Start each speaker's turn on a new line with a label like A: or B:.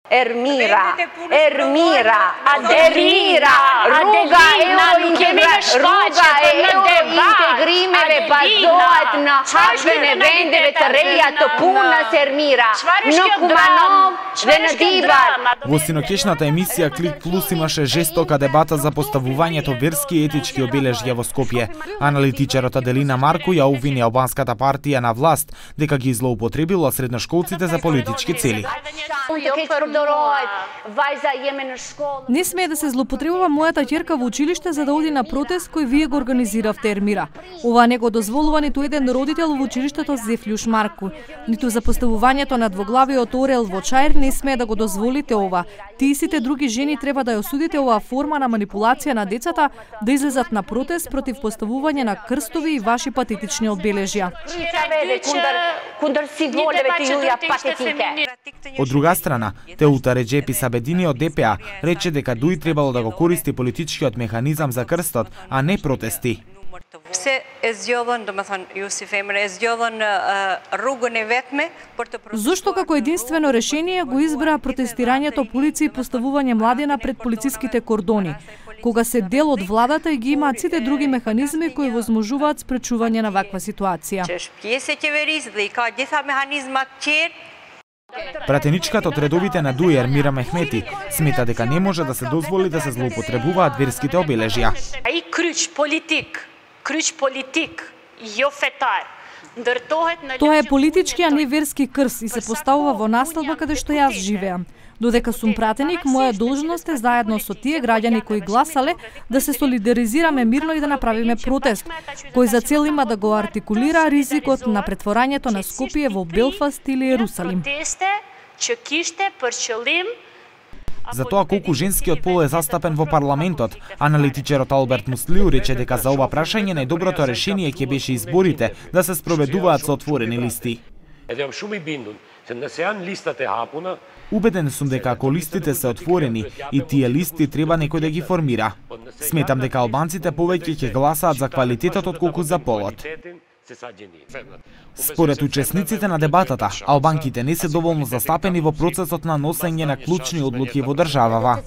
A: Ermira, ruga integrimeve bazohet na hashvene vendeve të reja të punës Ermira, në Kumanov dhe në Divar.
B: Во синокешната емисија Клик Плюс имаше жестока дебата за поставувањето верски и етички обележја во Скопје. Аналитичарот Аделина Марко ја обвини албанската партија на власт дека ги злоупотребила средношколците за политички цели.
C: Не смее да се злоупотребува мојата ќерка во училиште за да оди на протест кој вие го организиравте, Ермира. Ова не го дозволува ниту еден родител во училиштето Зефлюш Марко. Ниту за поставувањето на двоглавиот орел во Чаир не смее да го дозволите ова. Тие сите други жени треба да ја осудите оваа форма на манипулација на децата да излезат на протест против поставување на крстови и ваши патетични одбележја.
B: Од друга страна, Теута Реджепи Сабедини од ДПА рече дека ДУИ требало да го користи политичкиот механизам за крстот, а не протести.
C: Зошто како единствено решение го избра протестирањето полиција и поставување младина пред полициските кордони, кога се дел од владата и ги имаат сите други механизми кои возможуваат спречување на ваква ситуација?
B: Пратеничката од редовите на ДУИ Ермира Мехмети смета дека не може да се дозволи да се злоупотребуваат верските обележја.
C: Тоа е политички, а не верски крст и се поставува во насталба каде што јас живеам. Додека сум пратеник, моја должност е заедно со тие граѓани кои гласале да се солидаризираме мирно и да направиме протест, кој за цел има да го артикулира ризикот на претворањето на Скопје во Белфаст или Ерусалим.
B: За тоа колку женскиот пол е застапен во парламентот, аналитичарот Алберт Муслиу рече дека за ова прашање најдоброто решение ќе беше изборите да се спроведуваат со отворени листи. Убеден сум дека ако листите се отворени и тие листи треба некој да ги формира. Сметам дека албанците повеќе ќе гласаат за квалитетот отколку за полот. Според учесниците на дебатата, албанките не се доволно застапени во процесот на носење на клучни одлуки во државава.